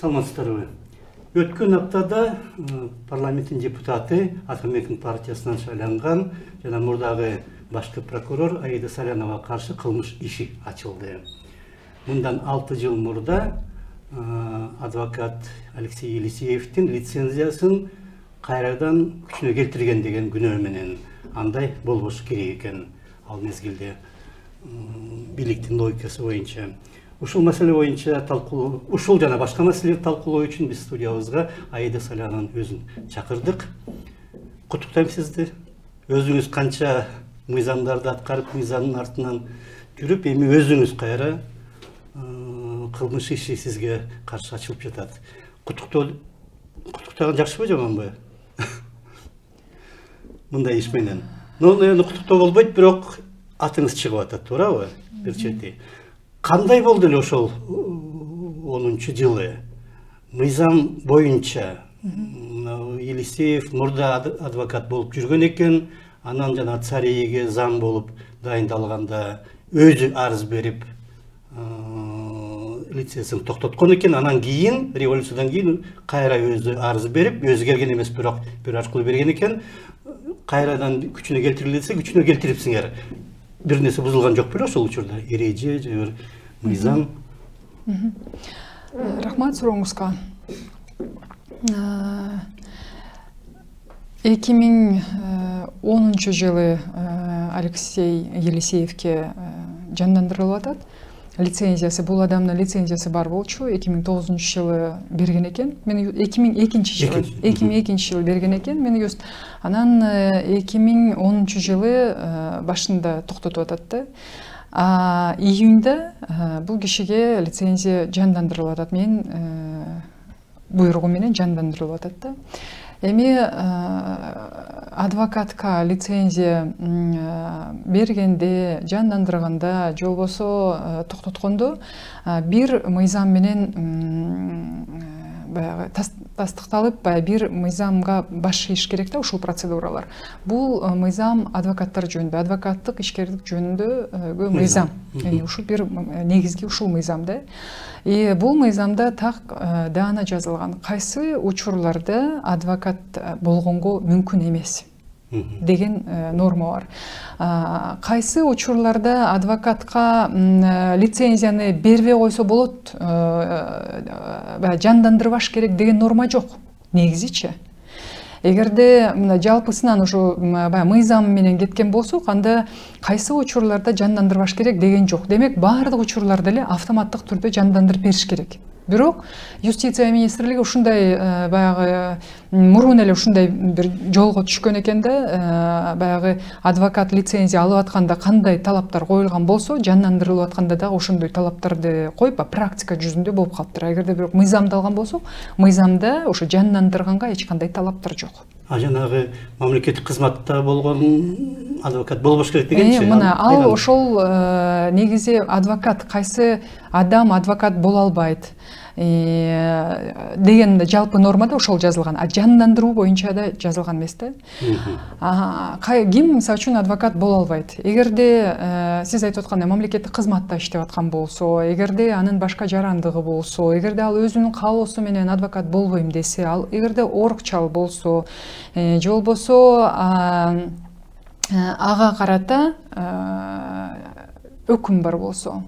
Саламатсыздарбы. Өткөн аптада парламенттин депутаты Атамекен партиясынан шайланган жана мурдагы башкы прокурор Аида Саляновага каршы кылмыш иши ачылды. Мындан 6 жыл мурда адвокат Алексей Елисеевдин лицензиясын кайрадан күчүнө келтирген деген күнөө менен андай болбош керек экен ал мезгилде бийликтин логикасы боюнча. Ушул маселе боюнча талкуу, ушул жана башка маселелерди талкуулоо үчүн биз студиябызга Аида Салянованын өзүн чакырдык. Куттуктайм сизди. Өзүңүз канча мыйзамдарды аткарып, мыйзамдын артынан жүрүп, эми өзүңүз кайра кылмыш иши сизге каршы ачылып жатат. Куттуктаган жакшыбы, жаманбы? Мындай иш менен. Эми куттуктоо болбойт, бирок атыңыз чыгып атат, туурабы? Бир чети. Кандай болду эле ошол 10-жылы? Мыйзам боюнча Елисеев мурда адвокат болуп жүргөн экен, анан жана Царейге зам болуп дайындалганда өзү арыз берип лицензиясын токтоткон экен, анан кийин революциядан кийин кайра өзү арыз берип, өзү келген эмес, бирок бир аркылуу берген экен. Кайрадан күчүнө келтирилсе, күчүнө келтирипсиңер. Бир нерсе бузулган жок беле ошол учурда? Эреже же бир мыйзам? Рахмат сурооңузга. 2010-жылы Алексей Елисеевке жандандырылып атат. Лицензиясы, бул адамдын лицензиясы бар болчу, 2009-жылы берген экен. Мен 2002-жылы берген экен. Мен just анан 2010-жылы башында токтотуп атат да. Июнда бул кишиге лицензия жандандырылып атат. Мен буйругу менен жандандырылып атат да. Эми адвокатка лицензия бергенде, жандандырганда, же болбосо токтоткондо бир мыйзам менен баягы тастыкталып, бир мыйзамга баш ийиш керек да ушул процедуралар. Бул мыйзам адвокаттар жөнүндө, адвокаттык ишкерлик жөнүндөгү мыйзам. Ушул бир негизги ушул мыйзам да. Бул мыйзамда так даана жазылган. Кайсы учурларда адвокат болгонго мүмкүн эмес деген норма бар. Кайсы учурларда адвокатка лицензияны бербей койсо болот, жандандырбаш керек деген норма жок. Негизичи. Эгерде жалпысынан ушу мыйзам менен кеткен болсок, анда кайсы учурларда жандандырбаш керек деген жок. Демек, баардык учурларда эле автоматтык түрдө жандандырып бериш керек. Бирок юстиция министрлиги ушундай баягы мурун эле ушундай бир жолго түшкөн экен да, баягы адвокат лицензия алып атканда кандай талаптар коюлган болсо, жандандырылып атканда дагы ошондой талаптарды коюп, практика жүзүндө болуп калыптыр. Эгерде бирок мыйзамды алган болсок, мыйзамда ошо жандандырганга эч кандай талаптар жок. Жанагы мамлекеттик кызматта болгон адвокат болбош керек дегенчи. Мына ал ошол негизи адвокат, кайсы адам адвокат боло албайт деген жалпы нормада ошол жазылган. Жандандыруу боюнча да жазылган эмес да. Ким мисалы үчүн адвокат боло албайт? Эгерде сиз айтып аткандай мамлекеттик кызматта иштеп аткан болсо, эгерде анын башка жарандыгы болсо, эгерде ал өзүнүн каалоосу менен адвокат болбойм десе, ал эгерде орукчал болсо, же болбосо ага карата өкүм бар болсо,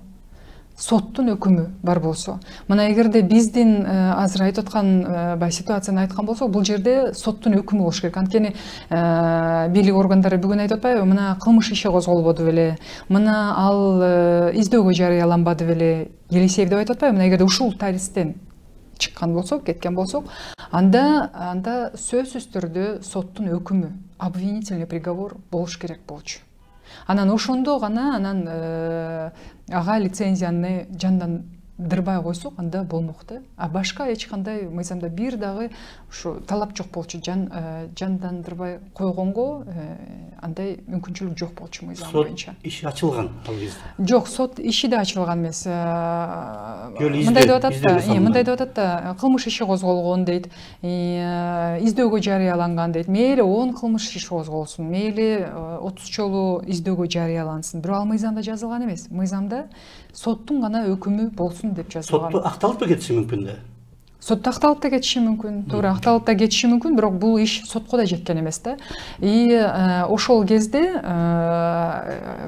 соттун өкүмү бар болсо. Мына эгерде биздин азыр айтып аткан ситуацияны айткан болсок, бул жерде соттун өкүмү болуш керек. Анткени бийлик органдары бүгүн айтып атпайбы, мына кылмыш иши козголбоду беле, мына ал издөөгө жарыяланбады беле, Елисеев деп айтып атпайбы? Мына эгерде ушул тарихтен чыккан болсок, кеткен болсок, анда сөзсүз түрдө соттун өкүмү, обвинительный приговор болуш керек болчу. Анан ошондо гана ага лицензияны жандандырбай койсок, анда болмок да. Башка эч кандай мыйзамда бир дагы ушу талап жок болчу. Жандандырбай койгонго андай мүмкүнчүлүк жок болчу мыйзам боюнча. Сот иши ачылган ал кезде. Жок, сот иши да ачылган эмес. Мындай деп атат да, кылмыш иши козголгон дейт, издөөгө жарыяланган дейт. Мейли 10 кылмыш иши козголсун, мейли 30 жолу издөөгө жарыялансын. Бирок ал мыйзамда жазылган эмес. Мыйзамда соттун гана өкүмү болсун деп жазылган. Сотто акталып кетиши мүмкүн да. сотто акталып да кетиши мүмкүн, туура акталып да кетиши мүмкүн, бирок бул иш сотко да жеткен эмес да. И ошол кезде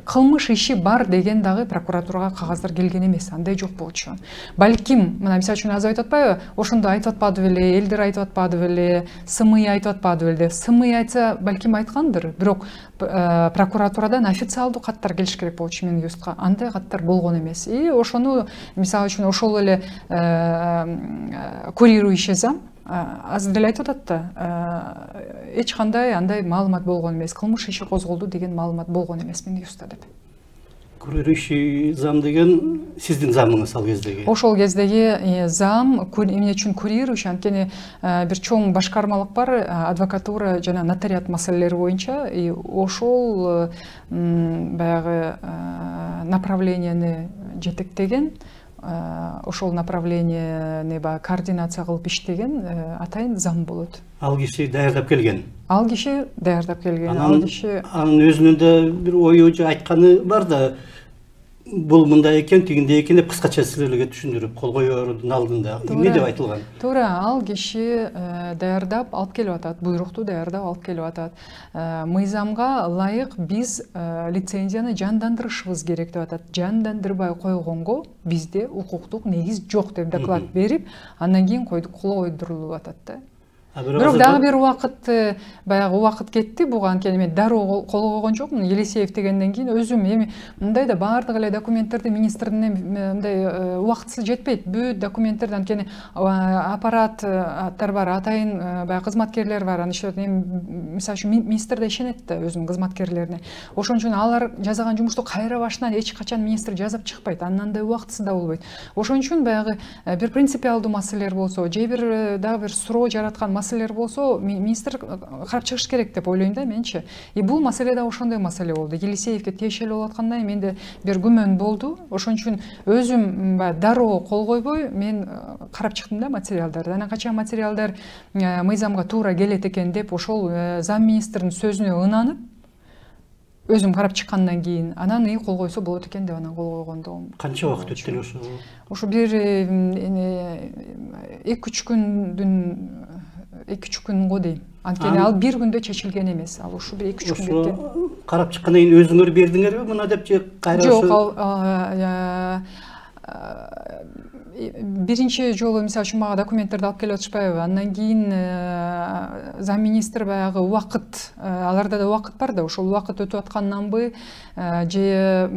кылмыш иши бар деген дагы прокуратурага кагаздар келген эмес, андай жок болчу. Балким, мына мисалы үчүн азыр айтып атпайбы, ошондо айтып атпады беле, элдер айтып атпады беле, СМИ айтып атпады беле. СМИ айтса, балким айткандыр, бирок прокуратурадан официалдуу каттар келиш керек болчу менин юстка. Андай каттар болгон эмес. И ошону мисалы үчүн ошол эле курирующий зам азыр деле айтып атат да, эч кандай андай маалымат болгон эмес, кылмыш иши козголду деген маалымат болгон эмес менин юста деп. Курирующий зам деген сиздин замыңыз ал кездеги? Ошол кездеги зам эмне үчүн курирующий, анткени бир чоң башкармалык бар, адвокатура жана нотариат маселелери боюнча, и ошол баягы направленияны жетектеген, ошол направленияны координация кылып иштеген атайын зам болот. Ал киши даярдап келген. Ал киши даярдап келген. Анын өзүнүн да бир ою же айтканы бар да, бул мындай экен, тигиндей экен деп кыскача силерге түшүндүрүп кол коюудун алдында эмне деп айтылган? Туура, ал киши даярдап алып келип атат, буйрукту даярдап алып келип атат. Мыйзамга ылайык биз лицензияны жандандырышыбыз керек деп атат. Жандандырбай койгонго бизде укуктук негиз жок деп доклад берип, андан кийин кол койдурулуп атат да. Бирок дагы бир баягы убакыт кетти буга, анткени мен дароо кол койгон жокмун. Елисеев дегенден кийин өзүм эми мындай да баардык эле документтерди министрдин мындай убактысы жетпейт. Бүт документтерди, анткени аппараттар бар, атайын баягы кызматкерлер бар. Аны иштеп, мисалы үчүн министр да ишенет да өзүнүн кызматкерлерине. Ошон үчүн алар жасаган жумушту кайра башынан эч качан министр жазып чыкпайт. Анын андай убактысы да болбойт. Ошон үчүн баягы бир принципиалдуу маселелер болсо, же бир дагы бир суроо жараткан маселелер болсо, министр карап чыгыш керек деп ойлойм да менчи. И бул маселе да ошондой маселе болду. Елисеевке тиешелүү болуп аткандай менде бир күмөн болду. Ошон үчүн өзүм дароо кол койбой мен карап чыктым да материалдарды. Анан качан материалдар мыйзамга туура келет экен деп ошол зам министрдин сөзүнө ынанып өзүм карап чыккандан кийин анан кол койсо болот экен деп анан кол койгондо. Канча убакыт өттү эле ошо? Ошо бир 2-3 күнгө дейм. Анткени ал бир күндө чечилген эмес. Ал ушу бир 2-3 күн кеткен. Карап чыккандан кийин өзүңөр бердиңерби мына деп же кайра? Жок, биринчи жолу мисалы үчүн мага документтерди алып келип атышпайбы, андан кийин зам министр баягы убакыт, аларда да убакыт бар да, ошол убакыт өтүп атканданбы же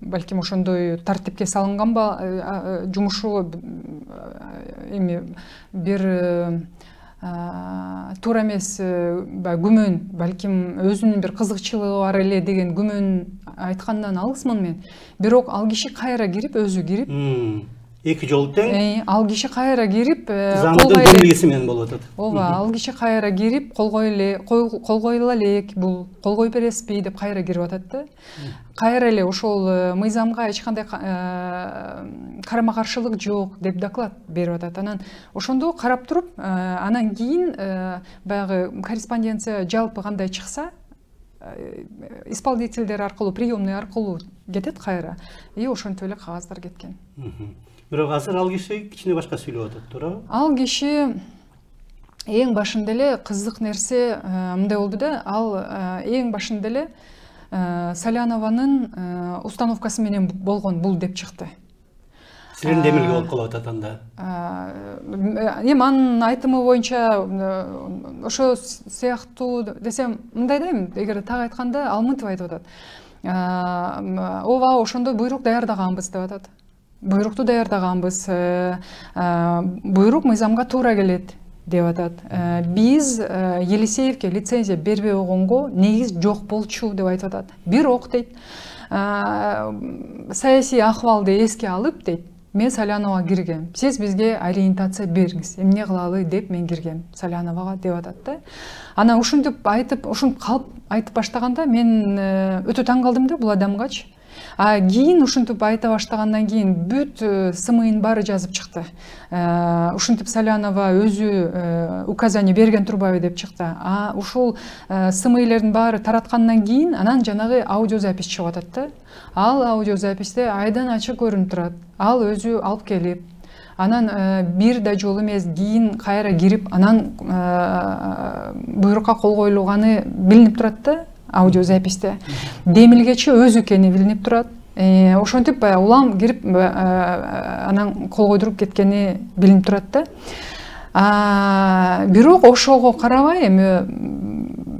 балким ошондой тартипке салынганбы жумушу эми бир туура эмес күмөн, балким өзүнүн бир кызыкчылыгы бар эле деген күмөн айткандан алысмын мен. Бирок ал киши кайра кирип, өзү кирип, 2 жолу тең. Ал киши кайра кирип, замдын демилгеси менен болуп атат. Ооба, ал киши кайра кирип, кол койула элек, бул кол коюп бересизби деп кайра кирип атат да. Кайра эле ошол мыйзамга эч кандай карама-каршылык жок деп доклад берип атат. Анан ошондо карап туруп, анан кийин баягы корреспонденция жалпы кандай чыкса, исполнительдер аркылуу, приемный аркылуу кетет кайра. И ошентип эле кагаздар кеткен. Бирок азыр ал киши кичине башка сүйлөп атат, туурабы? Ал киши эң башында эле кызык нерсе мындай болду да, ал эң башында эле Салянованын установкасы менен болгон бул деп чыкты. Силердин демилге болуп калып атат анда. Эми анын айтымы боюнча ошо сыяктуу десем мындай дейм, эгер так айтканда ал мынтип айтып атат. Ооба, ошондо буйрук даярдаганбыз деп атат. Буйрукту даярдаганбыз. Буйрук мыйзамга туура келет деп атат. Биз Елисеевке лицензия бербей койгонго негиз жок болчу деп айтып атат. Бирок дейт, саясий ахвалды эске алып дейт, мен Саляновага киргем. Сиз бизге ориентация бериңиз. Эмне кылалы деп мен киргем Саляновага деп атат да. Анан ушинтип айтып, калып айтып баштаганда мен өтө таң калдым да бул адамгачы. Кийин ушинтип айта баштагандан кийин бүт СМИнин баары жазып чыкты. Ушинтип Салянова өзү указание берген турбайбы деп чыкты. Ушул СМИлердин баары тараткандан кийин анан жанагы аудиозапись чыгып атат да. Ал аудиозаписте айдан ачык көрүнүп турат. Ал өзү алып келип, Анан бир да жолу эмес, кийин кайра кирип, анан буйрукка кол коюлганы билинип турат да, аудиозаписте. Демилгечи өзү экени билинип турат. Ошентип баягы улам кирип анан кол койдуруп кеткени билинип турат да. Бирок ошого карабай эми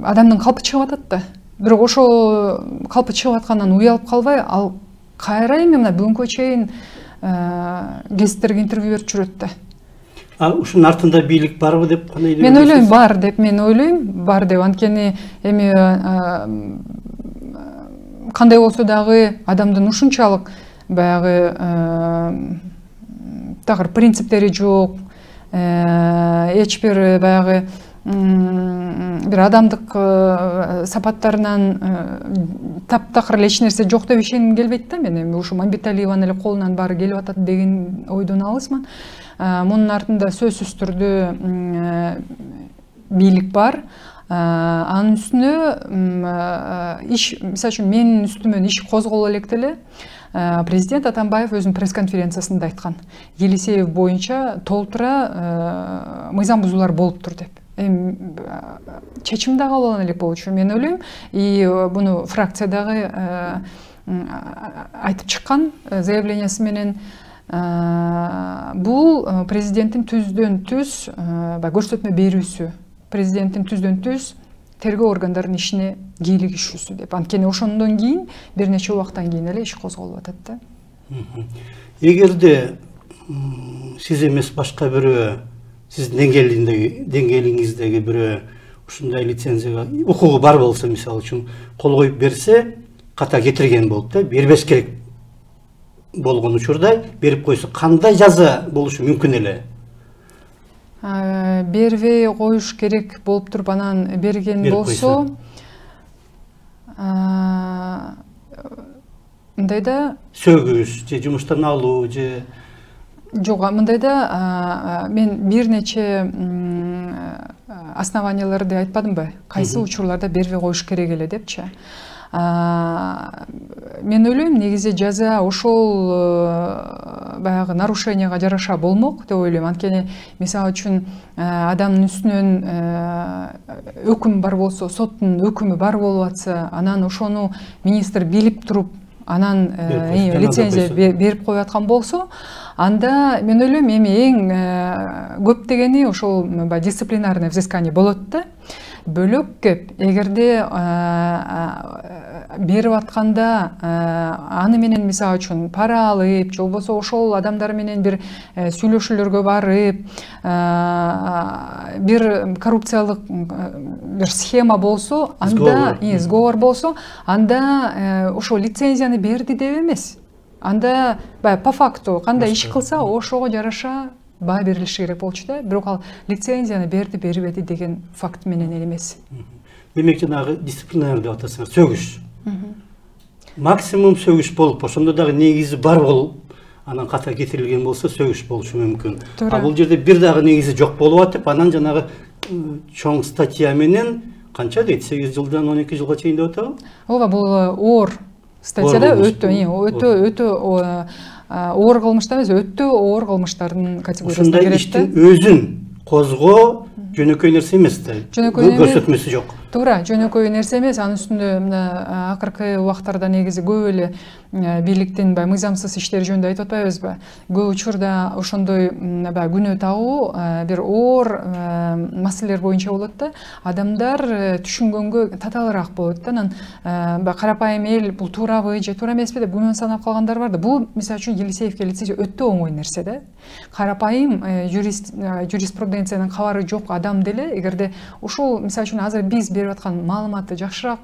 адамдын калпы чыгып атат да. Бирок ошо калпы чыгып аткандан уялып калбай, ал кайра эми мына бүгүнкү чейин гезиттерге интервью берип жүрөт да. Ушунун артында бийлик барбы деп кандай? Мен ойлойм бар деп, бар деп. Анткени эми кандай болсо дагы адамдын ушунчалык баягы такыр принциптери жок, эч бир баягы бир адамдык сапаттарынан таптакыр эле эч нерсе жок деп ишенгим келбейт да. Мен эми ушу Мамбеталиеванын эле колунан баары келип атат деген ойдон алысмын. Мунун артында сөзсүз түрдө бийлик бар. Анын үстүнө иш, мисалы үчүн менин үстүмөн иш козголо электе эле президент Атамбаев өзүнүн пресс-конференциясында айткан. Елисеев боюнча толтура мыйзам бузуулар болуптур деп. Чечим да кабыл алына элек болчу, мен ойлойм. И буну фракциядагы айтып чыккан заявлениясы менен. Бул президенттин түздөн түз көрсөтмө берүүсү, президенттин түздөн түз тергөө органдарынын ишине кийлигишүүсү деп. Анткени ошондон кийин бир нече убакыттан кийин эле иш козголуп атат да. Эгерде сиз эмес башка бирөө, сиздин деңгээлиңиздеги бирөө ушундай лицензияга укугу бар болсо, мисалы үчүн кол коюп берсе, ката кетирген болуп да, бербеш керек болгон учурда берип койсо, кандай жаза болушу мүмкүн эле? Бербей коюш керек болуп туруп анан берген болсо, мындайда сөгүш же жумуштан алуу же жок, мындайда мен бир нече основанияларды айтпадымбы? Кайсы учурларда бербей коюш керек эле депчи. Мен ойлойм, негизи жаза ошол баягы нарушенияга жараша болмок деп ойлойм. Анткени мисалы үчүн адамдын үстүнөн өкүм бар болсо, соттун өкүмү бар болуп атса, анан ошону министр билип туруп, анан лицензия берип коюп аткан болсо, анда мен ойлойм эми эң көп дегени ошол дисциплинарное взыскание болот да. Бөлөк кеп, эгерде берип атканда аны менен мисалы үчүн пара алып, же болбосо ошол адамдар менен бир сүйлөшүүлөргө барып, бир коррупциялык бир схема болсо, анда сговор болсо, анда ошол лицензияны берди деп эмес. Анда по факту кандай иш кылса, ошого жараша баа берилиши керек болчу да. Бирок ал лицензияны берди, бербеди деген факт менен эмес. Демек жанагы дисциплинар деп атасыңар, сөгүш. Максимум сөгүш болуп, ошондо дагы негизи бар болуп, анан ката кетирилген болсо сөгүш болушу мүмкүн. Бул жерде бир дагы негизи жок болуп атып, анан жанагы чоң статья менен канча дейт? 8 жылдан 12 жылга чейин деп атабы? Ооба, бул оор статьяда өтө оор кылмыштар эмес, өтө оор кылмыштардын категориясына кирет да. Ушундай иштин өзүн козгоо жөнөкөй нерсе эмес да. Көрсөтмөсү жок. Туура, жөнөкөй нерсе эмес. Анын үстүндө мына акыркы убактарда негизи көп эле бийликтин мыйзамсыз иштери жөнүндө айтып атпайбызбы? Көп учурда ошондой күнөө тагуу бир оор маселелер боюнча болот да. Адамдар түшүнгөнгө татаалыраак болот да. Анан карапайым эл бул туурабы же туура эмеспи деп күмөн санап калгандар бар да. Бул мисалы үчүн Елисеевке лицензия өтө оңой нерсе да. Карапайым юриспруденциянын кабары жок адам деле, эгерде ушул мисалы үчүн азыр биз берип аткан маалыматты жакшыраак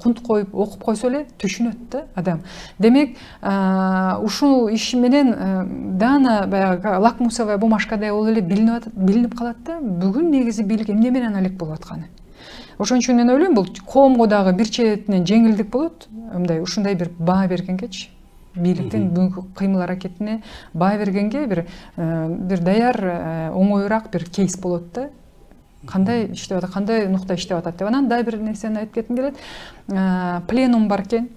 кунт коюп окуп койсо эле түшүнөт да адам. Демек, ушул иш менен дана баягы лакмусовая бумажкадай болуп эле билинип калат да. Бүгүн негизи бийлик эмне менен алек болуп атканы. Ошон үчүн мен ойлойм, бул коомго дагы бир четинен жеңилдик болот. Ушундай бир баа бергенгечи, бийликтин бүгүнкү кыймыл аракетине баа бергенге бир даяр оңоюраак бир кейс болот да. Кандай иштеп атат, кандай нукта иштеп атат деп. Анан да бир нерсени айтып кетким келет. Пленум бар экен.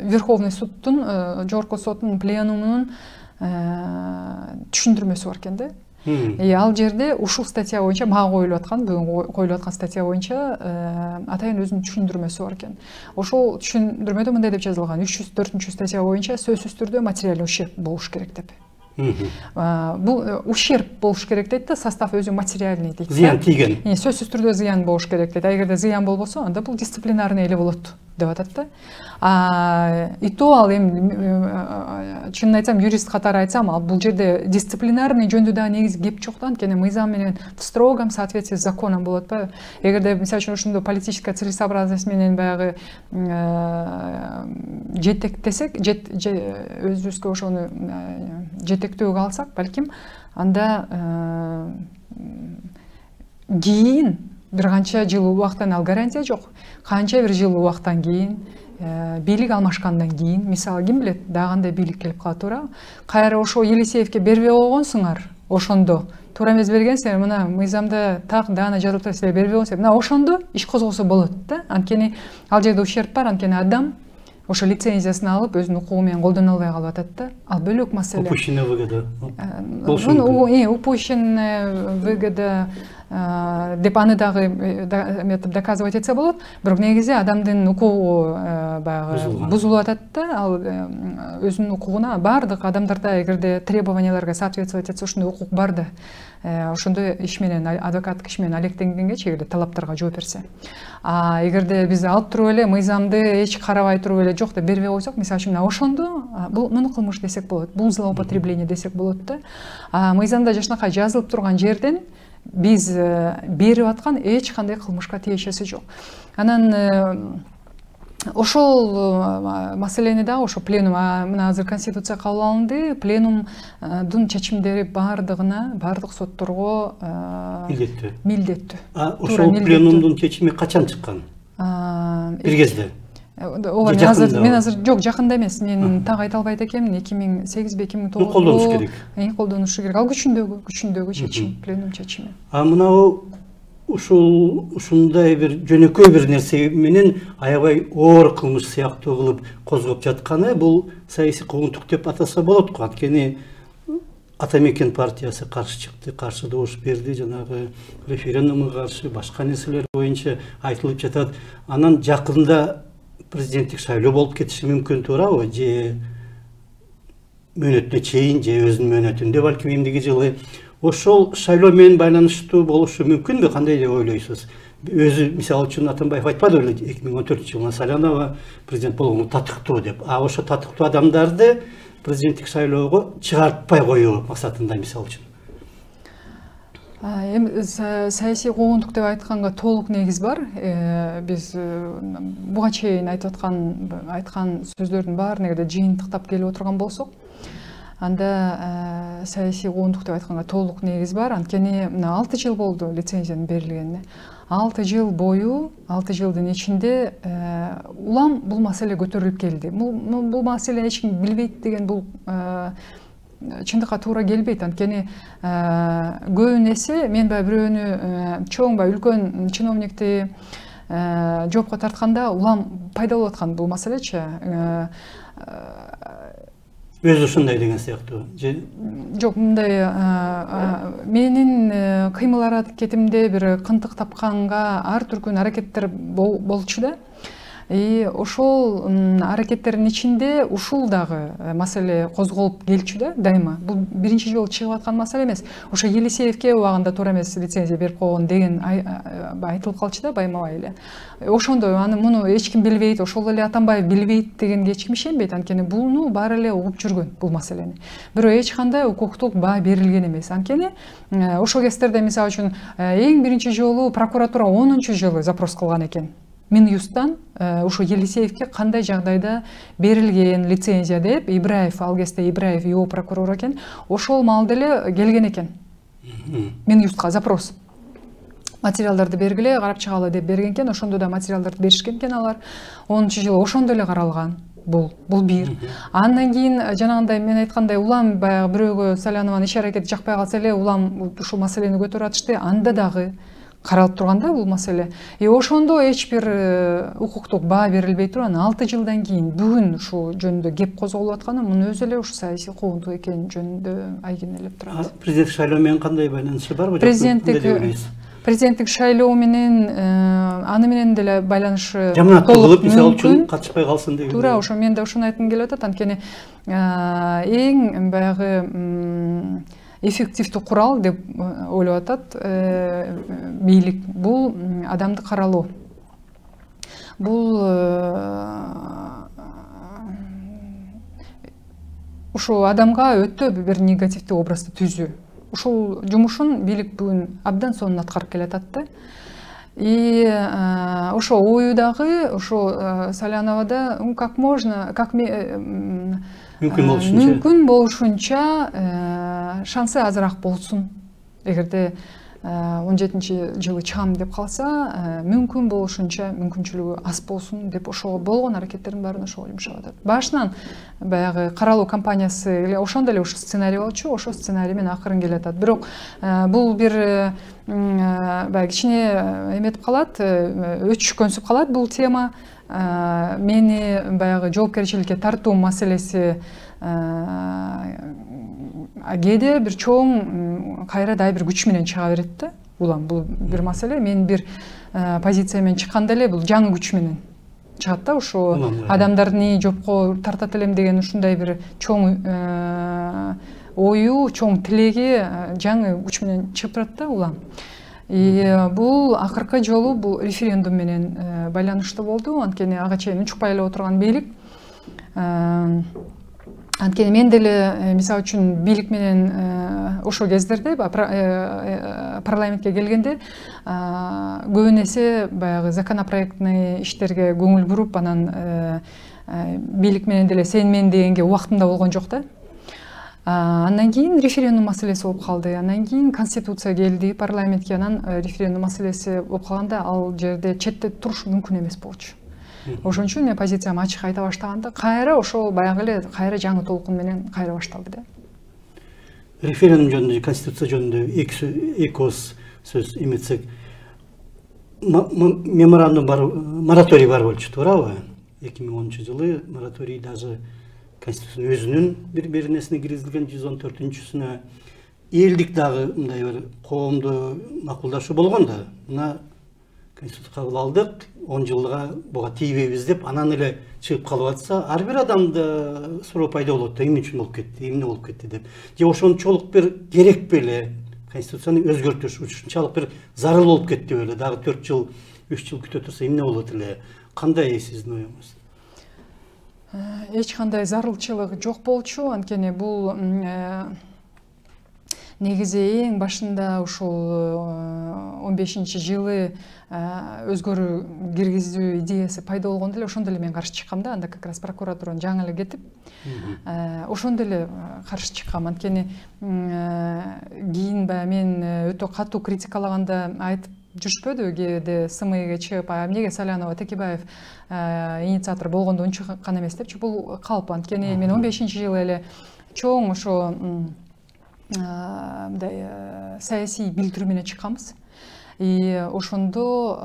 Верховный суттун, жогорку соттун пленумунун түшүндүрмөсү бар экен да. Ал жерде ушул статья боюнча мага коюлуп аткан, бүгүн коюлуп аткан статья боюнча атайын өзүнүн түшүндүрмөсү бар экен. Ошол түшүндүрмөдө мындай деп жазылган: 304 статья боюнча сөзсүз түрдө материалдык ущерб болуш керек деп. Бул ущерб болуш керек дейт да, состав өзү материальный дейт. Зыян тийген. Сөзсүз түрдө зыян болуш керек дейт. Эгерде зыян болбосо, анда бул дисциплинарный эле болот деп атат да. И то ал эми чынын айтсам, юрист катары айтсам, ал бул жерде дисциплинарный жөнүндө дагы негизи кеп жок да. Анткени мыйзам менен в строгом соответствии с законом болот ба. Эгерде мисалы үчүн ошондо политическая целесообразность менен баягы жетектесек, өзүбүзгө ошону жетектөөгө алсак, балким анда кийин бир канча жыл убакыттан, ал гарантия жок, канча бир жыл убакыттан кийин, бийлик алмашкандан кийин, мисалы ким билет, дагы кандай бийлик келип кала туура, кайра ошо Елисеевке бербей койгонсуңар, ошондо туура эмес бергенсиңер, мына мыйзамда так даана жазылып турат, силер бербей койгонсуңар, мына ошондо иш козголсо болот да. Анткени ал жерде ущерб бар, анткени адам ошо лицензиясын алып өзүнүн укугу менен колдоно албай калып атат да. Ал бөлөк маселе. Упущенная выгода. Упущенная выгода деп аны дагы доказывать этсе болот. Бирок негизи адамдын укугу баягы бузулуп атат да. Ал өзүнүн укугуна бардык адамдарда эгерде требованияларга соответствовать этсе, ошондой укук бар да. Ошондой иш менен, адвокаттык иш менен алектенгенге эгерде талаптарга жооп берсе. Эгерде биз алып туруп эле мыйзамды эч карабай туруп эле жок деп бербей койсок, мисалы үчүн ошондо бул муну кылмыш десек болот, бул злоупотребление десек болот да. Мыйзамда жакшынакай жазылып турган жерден биз берип аткан эч кандай кылмышка тиешеси жок. Анан ошол маселени дагы ошо пленум, мына азыр конституция кабыл алынды, пленумдун чечимдери бардык сотторго милдеттүү. Ошол пленумдун чечими качан чыккан? Бир кезде. Ооба, мен азыр жок, жакында эмес. Мен так айта албайт экенмин. 2008 2009 колдонуш керек. Колдонушу керек. Ал күчүндөгү чечим, пленум чечими. Мына ушундай бир жөнөкөй бир нерсе менен аябай оор кылмыш сыяктуу кылып козгоп жатканы бул саясий куугунтук деп атаса болот го. Анткени Атамекен партиясы каршы чыкты, каршы добуш берди, жанагы референдумга каршы, башка нерселер боюнча айтылып жатат. Анан жакында президенттик шайлоо болуп кетиши мүмкүн, туурабы? Же мөөнөтүнө чейин, же өзүнүн мөөнөтүндө балким эмдиги жылы. Ошол шайлоо менен байланыштуу болушу мүмкүнбү? Кандай деп ойлойсуз? Өзү мисалы үчүн Атамбаев айтпады беле 2014-жылы Салянова президент болгону татыктуу деп. Ошо татыктуу адамдарды президенттик шайлоого чыгартпай коюу максатында мисалы үчүн. Эми саясий куугунтук деп айтканга толук негиз бар. Биз буга чейин айткан сөздөрдүн баарын эгерде жыйынтыктап келип отурган болсок, анда саясий куугунтук деп айтканга толук негиз бар. Анткени мына 6 жыл болду лицензиянын берилгенине. 6 жыл бою, 6 жылдын ичинде улам бул маселе көтөрүлүп келди. Бул маселе эч ким билбейт деген бул чындыкка туура келбейт. Анткени көбүн эсе мен бирөөнү чоң үлкөн чиновникти жоопко тартканда улам пайда болуп аткан бул маселечи. Өзү ушундай деген сыяктуу. Жок, мындай менин кыймыл аракетимде бир кынтык тапканга ар түркүн аракеттер болчу да. Ошол аракеттердин ичинде ушул дагы маселе козголуп келчү да, дайыма. Бул биринчи жолу чыгып аткан маселе эмес. Ошо Елисеевке убагында туура эмес лицензия берип койгон деген айтылып калчу да, байма-бай эле. Ошондой аны муну эч ким билбейт, ошол эле Атамбаев билбейт дегенге эч ким ишенбейт. Анткени буну баары эле угуп жүргөн бул маселени. Бирок эч кандай укуктук баа берилген эмес. Анткени ошол кездерде мисалы үчүн эң биринчи жолу прокуратура 10-жылы запрос кылган экен. Минюсттан ошо Елисеевке кандай жагдайда берилген лицензия деп, Ибраев, ал кезде Ибраев ИО прокурор экен, ошол маалда эле келген экен. Минюстка запрос. Материалдарды бергиле, карап чыгалы деп берген экен, ошондо да материалдарды беришкен экен алар. 10-жылы ошондо эле каралган. Бул бир. Андан кийин жанагындай мен айткандай улам баягы бирөөгө Салянованын иш аракети жакпай калса эле улам ушул маселени көтөрүп атышты. Анда дагы каралып турганда бул маселе. Ошондо эч бир укуктук баа берилбей турган 6 жылдан кийин бүгүн ушул жөнүндө кеп козголуп атканы мунун өзү эле ушу саясий куугунтук экени жөнүндө айгинелеп турат. Президент шайлоо менен кандай байланышы барбы? Президенттик шайлоо менен аны менен деле байланышы жаманаттуу кылып, мисалы үчүн катышпай калсын деген. Туура, ошо мен да ошону айткым келип атат. Анткени эң баягы эффективдүү курал деп ойлоп атат бийлик. Бул адамды каралоо. Бул ошо адамга өтө бир негативдүү образды түзүү. Ушул жумушун бийлик бүгүн абдан сонун аткарып келатат да. И ошо ою дагы ошо Саляновада как можно, как мүмкүн болушунча шансы азыраак болсун. Эгерде 17-жылы чыгам деп калса, мүмкүн болушунча мүмкүнчүлүгү аз болсун деп ошого болгон аракеттердин баарын ошого жумшап атат. Башынан баягы каралоо кампаниясы эле ошондо эле ушу сценарий болчу, ошо сценарий менен акырын келатат. Бирок бул бир баягы кичине эметип калат, өчкөнсүп калат бул тема. Мени баягы жоопкерчиликке тартуу маселеси кээде бир чоң кайра дай бир күч менен чыга берет да. Улам бул бир маселе. Мен бир позиция менен чыкканда эле бул жаңы күч менен чыгат да. Ошо адамдарды жопко тартат элем деген ушундай бир чоң ою, чоң тилеги жаңы күч менен чыгып турат да улам. Бул акыркы жолу бул референдум менен байланыштуу болду. Анткени ага чейин учукпай эле отурган бийлик. Анткени мен деле мисалы үчүн бийлик менен ошол кездерде парламентке келгенде көбүн эсе баягы законопроектный иштерге көңүл буруп, анан бийлик менен деле сен мен дегенге убактымда болгон жок да. Андан кийин референдум маселеси болуп калды. Андан кийин конституция келди парламентке, анан референдум маселеси болуп калганда ал жерде четте туруш мүмкүн эмес болчу. Ошон үчүн мен позициямды ачык айта баштаганда кайра ошол баягы эле кайра жаңы толкун менен кайра башталды да. Референдум жөнүндө, конституция жөнүндө эки ооз сөз эметсек, меморандум бар, мораторий бар болчу, туурабы? 2010-жылы мораторий даже конституциянын өзүнүн бир нерсине киргизилген 114-сүнө элдик дагы мындай бир коомду макулдашуу болгон да. Мына конституция кабыл алдык, 10 жылга буга тийбейбиз деп анан эле чыгып калып атса, ар бир адамда суроо пайда болот да, эмне үчүн болуп кетти, эмне болуп кетти деп. Же ошончолук бир керек беле конституцияны өзгөртүш, ушунчалык бир зарыл болуп кетти беле, дагы 4 жыл, 3 жыл күтө турса эмне болот эле? Кандай сиздин оюңуз? Эч кандай зарылчылык жок болчу, анткени бул негизи эң башында ушул 15-жылы өзгөрүү киргизүү идеясы пайда болгондо эле ошондо эле мен каршы чыккам да. Анда как раз прокуратуранын жаңы эле кетип, ошондо эле каршы чыккам. Анткени кийин баягы мен өтө катуу критикалаганда айтып жүрүшпөдү, кээде СМИге чыгып, эмнеге Салянова, Текебаев инициатор болгондо унчуккан эмес депчи. Бул калп. Анткени мен 15-жылы эле чоң ошо мындай саясий билдирүү менен чыкканбыз. Ошондо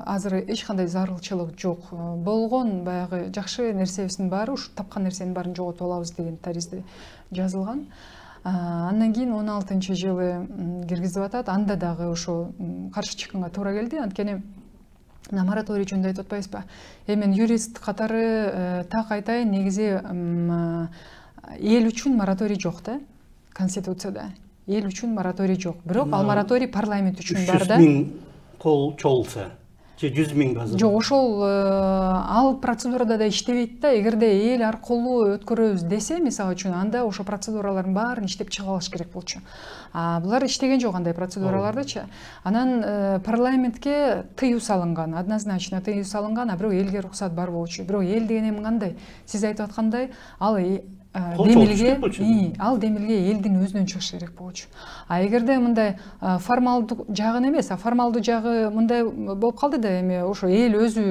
азыр эч кандай зарылчылык жок. Болгон баягы жакшы нерсебиздин баары, ушу тапкан нерсенин баарын жоготуп алабыз деген таризде жазылган. Андан кийин 16-жылы киргизип атат. Анда дагы ошо каршы чыкканга туура келди. Анткени мораторий жөнүндө айтып атпайбызбы? Мен юрист катары так айтайын, негизи эл үчүн мораторий жок да. Конституцияда эл үчүн мораторий жок. Бирок ал мораторий парламент үчүн бар да. 300 000 кол чогулса, же 100 000 базар. Жок, ошол ал процедурада да иштебейт да. Эгерде эл аркылуу өткөрөбүз десе, мисалы үчүн, анда ошо процедуралардын баарын иштеп чыгып алыш керек болчу. Булар иштеген жок андай процедуралардычы. Анан парламентке тыюу салынган, однозначно тыюу салынган, бирок элге уруксат бар болчу. Бирок эл деген эми кандай? Сиз айтып аткандай, ал демилге ал демилге элдин өзүнөн чыгыш керек болчу. А эгерде мындай формалдуу жагын эмес, формалдуу жагы мындай болуп калды да, эми ошо эл өзү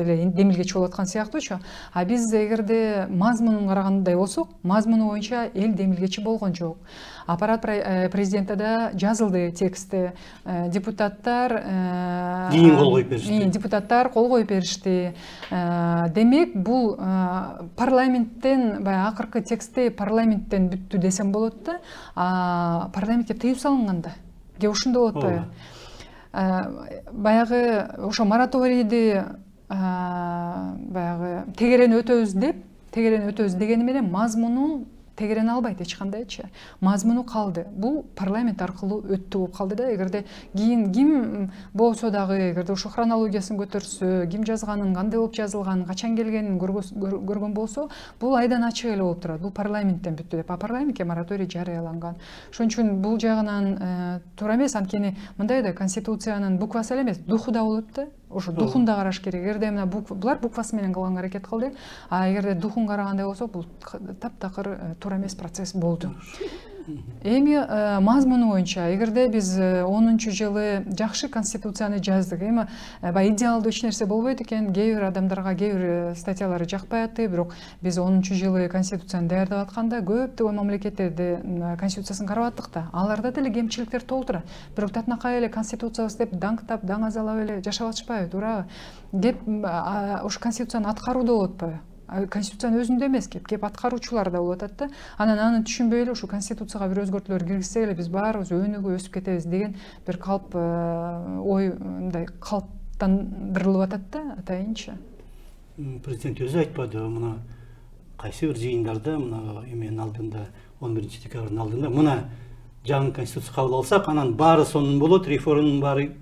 эле демилгечи болуп аткан сыяктуучу. А биз эгерде мазмунун карагандай болсок, мазмуну боюнча эл демилгечи болгон жок. Аппарат президентида жазылды текстти, депутаттар кол коюп беришти. Демек бул парламенттен баягы акыркы текстти парламенттен бүттү десем болот да, парламентке тыюу салынган да. Же ушундай болот атпайбы? Баягы ошо мораторийди баягы тегерен өтөбүз дегени менен мазмуну тегерене албайт эч кандайчы. Мазмуну калды. Бул парламент аркылуу өттү болуп калды да. Эгерде ким болсо дагы, эгерде ошо хронологиясын көтөрсө, ким жазганын, кандай болуп жазылганын, качан келгенин көргөн болсо, бул айдан ачык эле болуп турат. Бул парламенттен бүттү деп. Парламентке мораторий жарыяланган. Ошон үчүн бул жагынан туура эмес. Анткени мындай да, конституциянын буквасы эле эмес, духу да болот да. Ошо духун да караш керек. Эгерде мына булар буквасы менен кылганга аракет кылды, а эгерде духун карагандай болсок, бул таптакыр туура эмес процесс болду. Эми мазмуну боюнча, эгерде биз 10-жылы жакшы конституцияны жаздык, эми баягы идеалдуу эч нерсе болбойт экен, кээ бир адамдарга кээ бир статьялары жакпай атты, бирок биз 10-жылы конституцияны даярдап атканда көптөгөн мамлекеттерди конституциясын карап аттык да, аларда деле кемчиликтер толтура. Бирок татынакай эле конституциябыз деп даңктап, таң азалап эле жашап атышпайбы, туурабы? Кеп ошо конституцияны аткарууда болуп атпайбы? Конституциянын өзүндө эмес, кеп аткаруучулар да болуп атат да. Анан аны түшүнбөй эле ушу конституцияга бир өзгөртүүлөр киргизсек эле биз баарыбыз өнүгүп өсүп кетебиз деген бир калп ой мындай калыптандырылып атат да, атайынчы. Президент өзү айтпадыбы, мына кайсы бир жыйындарда, мына эменин алдында, 11-декабрдын алдында, мына жаңы конституция кабыл алсак, анан баары сонун болот, реформанын баары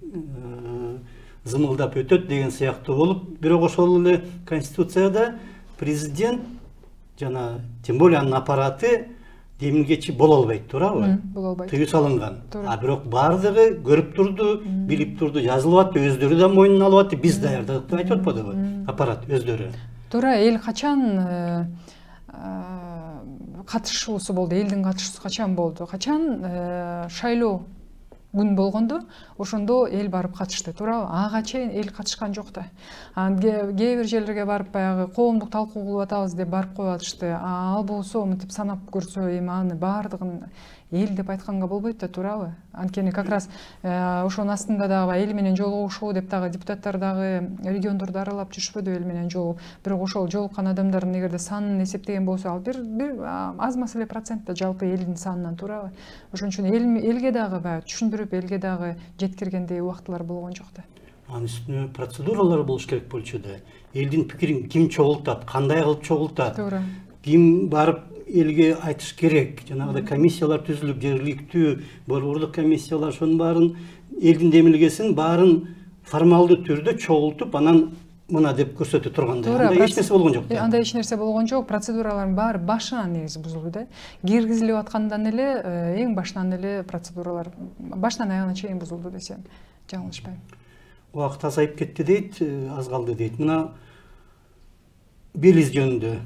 зымылдап өтөт деген сыяктуу болуп, бирок ошол эле конституцияда президент жана тем более анын аппараты демилгечи боло албайт, туурабы? Боло албайт. Тыюу салынган. А бирок баардыгы көрүп турду, билип турду, жазылып атты, өздөрү да мойнуна алып атты, биз даярдадык деп айтып атпадыбы? Аппарат өздөрү. Туура, эл качан катышуусу болду, элдин катышуусу качан болду? Качан шайлоо күн болгондо, ошондо эл барып катышты, туурабы? Ага чейин эл катышкан жок да. Кээ бир жерлерге барып баягы коомдук талкуу кылып атабыз деп барып коюп атышты. Ал болсо мынтип санап көрсө, эми аны баардыгын эл деп айтканга болбойт да, туурабы? Анткени как раз ошонун астында дагы эл менен жолугушуу деп дагы депутаттар дагы региондорду аралап жүрүшпөдү эл менен жолугуп. Бирок ошол жолуккан адамдардын эгерде санын эсептеген болсо, ал бир аз мас эле процент да жалпы элдин санынан, туурабы? Ошон үчүн элге дагы баягы түшүндүрүп, элге дагы жеткиргендей убактылар болгон жок да. Анын үстүнө процедуралар болуш керек болчу да. Элдин пикирин ким чогултат, кандай кылып чогултат, ким барып элге айтыш керек, жанагыдай комиссиялар түзүлүп, жергиликтүү борбордук комиссиялар ошонун баарын элдин демилгесин баарын формалдуу түрдө чогултуп, анан мына деп көрсөтө тургандай. Андай эч нерсе болгон жок. Андай эч нерсе болгон жок. Процедуралардын баары башынан негизи бузулду да. Киргизилип аткандан эле эң башынан эле процедуралар башынан аягына чейин бузулду десем жаңылышпайм. Убакыт азайып кетти дейт, аз калды дейт. Мына Белиз жөнүндө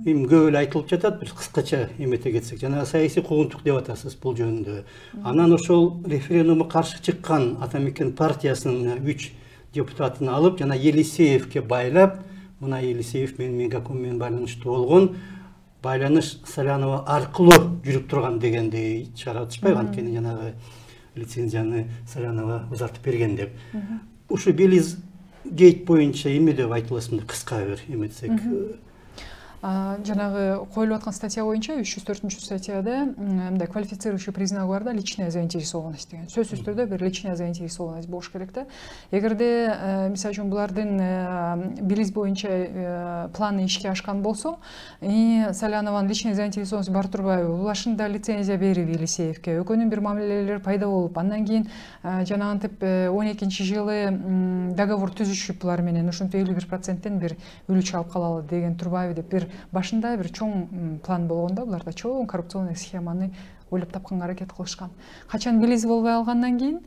эми көп эле айтылып жатат, бир кыскача эмете кетсек, жана саясий куугунтук деп атасыз бул жөнүндө. Анан ошол референдумга каршы чыккан Атамекен партиясынын 3 депутатын алып, жана Елисеевке байлап, мына Елисеев менин Мегаком менен байланыштуу болгон, байланыш Салянова аркылуу жүрүп турган дегендей чыгарып атышпайбы? Анткени жанагы лицензияны Салянова узартып берген деп. Ушу Белиз гейт боюнча эме деп айтыласыңдар, кыска бир эметсек. Жанагы коюлуп аткан статья боюнча 304-статьяда мындай квалифицирующий признак бар да, личная заинтересованность деген. Сөзсүз түрдө бир личная заинтересованность болуш керек да. Эгерде мисалы үчүн булардын Белиз боюнча планы ишке ашкан болсо, Салянованын личная заинтересованность бар турбайбы? Башында лицензия берип Елисеевке, экөөнүн бир мамилелери пайда болуп, андан кийин жанагынтип 12-жылы договор түзүшүп булар менен, ошентип 51%тен бир үлүч алып калалы деген турбайбы деп бир башында бир чоң план болгондо, буларда чоң коррупционный схеманы ойлоп тапканга аракет кылышкан. Качан билиз болбой алгандан кийин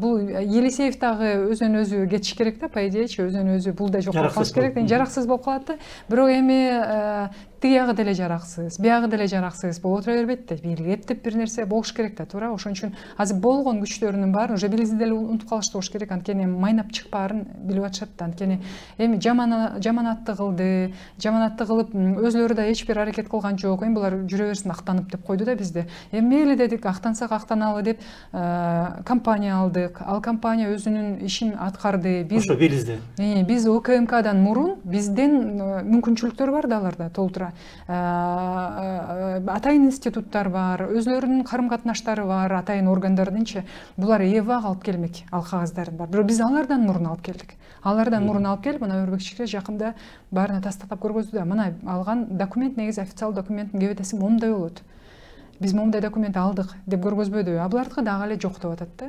бул Елисеев дагы өзүнөн өзү кетиш керек да, по идеечи өзүнөн өзү бул да жок болуп калыш керек, жараксыз болуп калат да. Бирок эми тиягы деле жараксыз, биягы деле жараксыз болуп отура бербейт да. Эптеп бир нерсе болуш керек да, туура. Ошон үчүн азыр болгон күчтөрүнүн баарын уже билиз деле унутуп калышты болуш керек. Анткени майнап чыкпаарын билип атышат да. Анткени эми жаманатты кылды, жаманатты кылып өзлөрү да эч бир аракет кылган жок. Эми булар жүрө берсин актанып деп койду да бизди. Эми мейли дедик, актансак актаналы деп компания алдык. Ал компания өзүнүн ишин аткарды. Ошо билизде. Биз ОКМКдан мурун бизден мүмкүнчүлүктөр бар да аларда толтура. Атайын институттар бар, өзлөрүнүн карым катнаштары бар, атайын органдардынчы. Булар эбак алып келмек, ал кагаздарын бар. Бирок биз алардан мурун алып келдик. Алардан мурун алып келип, мына Өрбекчикке жакында баарына тастыктап көргөздү да. Мына алган документ негизи официалдуу документтин кебетеси момундай болот. Биз момундай документ алдык деп көргөзбөдү. А булардыкы дагы эле жок деп атат да.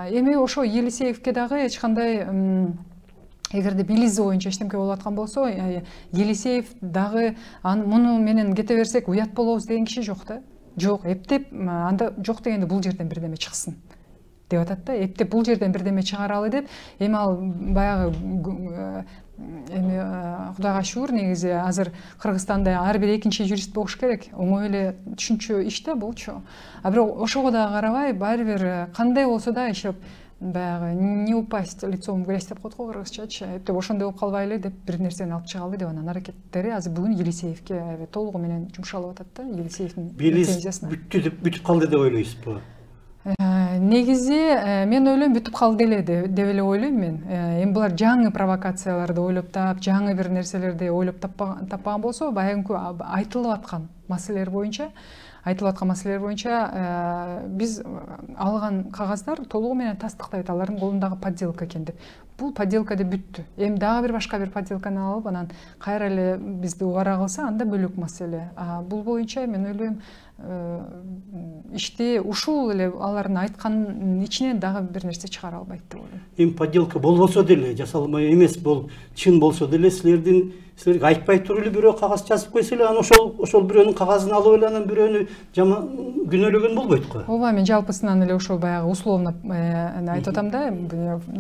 Эми ошо Елисеевке дагы эч кандай эгерде билизи боюнча эчтемке болуп аткан болсо, Елисеев дагы муну менен кете берсек уят болобуз деген киши жок да. Жок, эптеп анда жок дегенде бул жерден бирдеме чыксын деп атат да. Эптеп бул жерден бирдеме чыгаралы деп, эми ал баягы эми Кудайга шүгүр, негизи азыр Кыргызстанда ар бир экинчи юрист болуш керек. Оңой эле түшүнчү иш да булчу. А бирок ошого да карабай, баары бир кандай болсо да ишеп баягы не упасть лицом в грязь деп коет го кыргызчачы. Эптеп ошондой болуп калбайлы деп бир нерсени алып чыгалы деп анан аракеттери азыр бүгүн Елисеевке толугу менен жумшалып атат да. Елисеевдин лицензиясына. Бүтүп калды деп ойлойсузбу? Негизи мен ойлойм бүтүп калды эле деп эле ойлойм мен. Эми булар жаңы провокацияларды ойлоп тап, жаңы бир нерселерди ойлоп таппаган болсо, баягы айтылып аткан маселелер боюнча биз алган кагаздар толугу менен тастыктайт алардын колундагы подделка экен деп. Бул подделка деп бүттү. Эми дагы башка бир подделканы алып, анан кайра эле бизди убара кылса, анда бөлөк маселе. Бул боюнча мен ойлойм ишти ушул эле алардын айтканын ичинен дагы бир нерсе чыгара албайт деп ойлойм. Эми подделка болбосо деле, жасалмай эмес, бул чын болсо деле силерге айтпай туруп эле бирөө кагаз жазып койсо эле, анан ошол бирөөнүн кагазын алып эле анан бирөөнү жаман күнөөлөгөн болбойт го. Ооба, мен жалпысынан эле ошол баягы условно айтып атам да,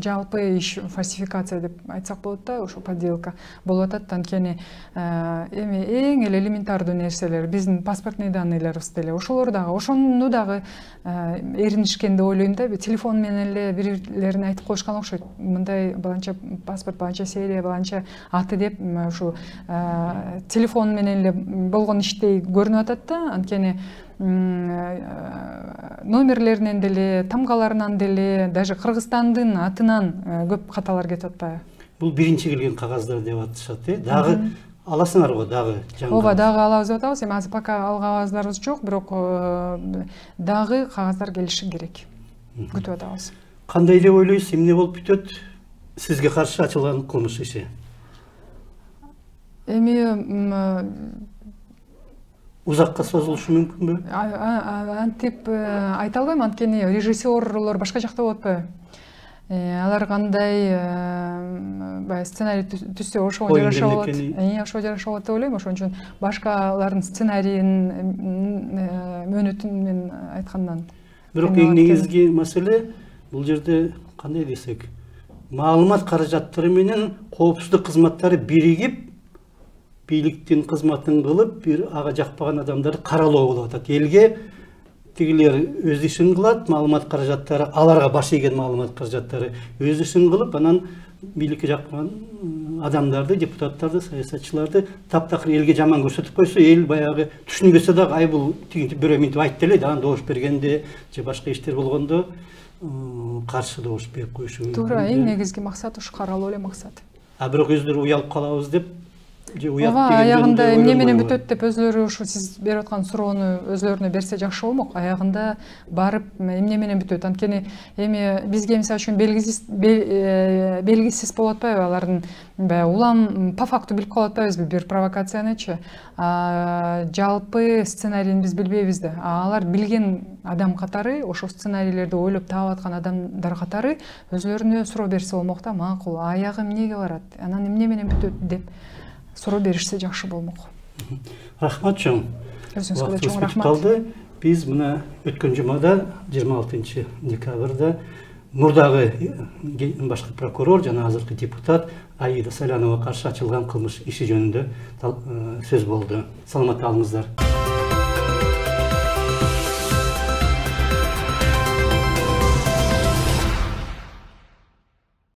жалпы иш фальсификация деп айтсак болот да, ошо подделка болуп атат. Анткени эми эң эле элементардуу нерселер, биздин паспортный данныйларыбыз деле ошолор дагы, ошону дагы эринишкен деп ойлойм да. Телефон менен эле бирлерин айтып коюшкан окшойт. Мындай баланча паспорт, баланча серия, баланча аты деп ушу телефон менен эле болгон иштей көрүнүп атат да. Анткени номерлеринен деле, тамгаларынан деле, даже Кыргызстандын атынан көп каталар кетип атпайбы? Бул биринчи келген кагаздар деп атышат, дагы аласыңар го, дагы жаңы. Ооба, дагы алабыз деп атабыз. Эми азыр пока ал кагаздарыбыз жок, бирок дагы кагаздар келиши керек. Күтүп атабыз. Кандай деп ойлойсуз, эмне болуп бүтөт сизге каршы ачылган кылмыш иши? Эми узакка созулушу мүмкүнбү? Антип айта албайм, анткени режиссерлор башка жакта болуп атпайбы? Алар кандай баягы сценарий түзсө ошого жараша болот. Ошого жараша болот деп ойлойм. Ошон үчүн башкалардын сценарийин мөөнөтүн мен айткандан. Бирок эң негизги маселе бул жерде кандай десек, маалымат каражаттары менен коопсуздук кызматтары биригип, бийликтин кызматын кылып, бир ага жакпаган адамдарды каралоо болуп атат. Элге тигилер өз ишин кылат, маалымат каражаттары, аларга баш ийген маалымат каражаттары өз ишин кылып, анан бийликке жакпаган адамдарды, депутаттарды, саясатчыларды таптакыр элге жаман көрсөтүп койсо, эл баягы түшүнбөсө дагы, ай бул тигинти бирөө минтип айтты эле, анан добуш бергенде же башка иштер болгондо каршы добуш берип коюшу мүмкүн. Туура, эң негизги максат ушу каралуу эле максат. Бирок өздөрү уялып калабыз деп, ооба, аягында эмне менен бүтөт деп өзлөрү ушу сиз берип аткан суроону өзлөрүнө берсе жакшы болмок. Аягында барып эмне менен бүтөт? Анткени эми бизге мисалы үчүн белгисиз болуп атпайбы алардын баягы улам по факту билип калып атпайбызбы бир провокациянычы? Жалпы сценарийин биз билбейбиз да. Алар билген адам катары, ошол сценарийлерди ойлоп таап аткан адамдар катары өзлөрүнө суроо берсе болмок да, макул, аягы эмнеге барат? Анан эмне менен бүтөт деп суроо беришсе жакшы болмок. Рахмат чоң. Өзүңүзгө да чоң бүтүп рахмат. калды. Биз мына өткөн жумада 26 декабрда мурдагы башкы прокурор жана азыркы депутат Аида Салянова каршы ачылган кылмыш иши жөнүндө сөз болду. Саламатта калыңыздар.